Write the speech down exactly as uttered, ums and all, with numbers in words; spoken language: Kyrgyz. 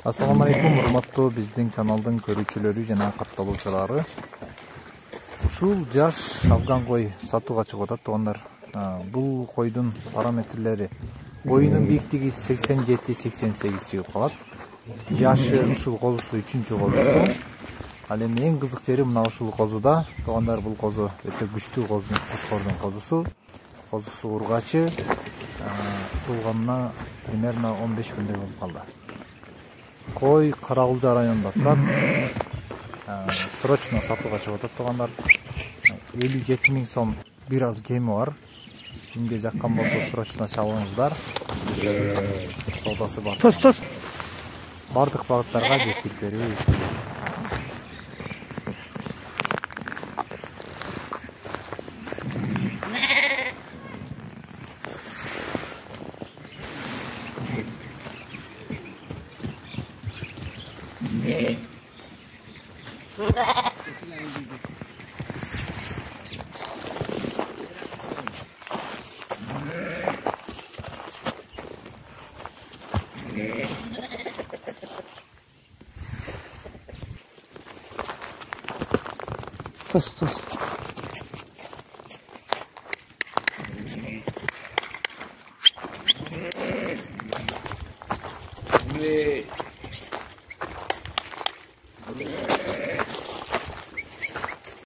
Ассаламу алейкум, урматтуу биздин каналдын көрүүчүлөрү жана катталуучулары. Ушул жаш афган кой сатууга чыгып атат туугандар. Бул койдун параметрлери: боюнун бийиктиги сексен жети сексен сегиз чыгып калат. Жашы ушул козусу үчүнчү козусу. Ал эми эң кызык жери мына ушул козуда. Туугандар, бул козу өтө күчтүү козу, кошкордун козусу. Козусу ургачы. Туулганына примерно он беш күндөй болуп калды. Кой Карагулжа районунда турат. Срочно сатууга чыгып атат туугандар. элүү жети миң сом бир аз кеми бар. Кимге жаккан болсо срочно чалыңыздар. Саудасы бар. Тос тос. Бардык багыттарга жеткирип берүү. Тос тос. Yeah.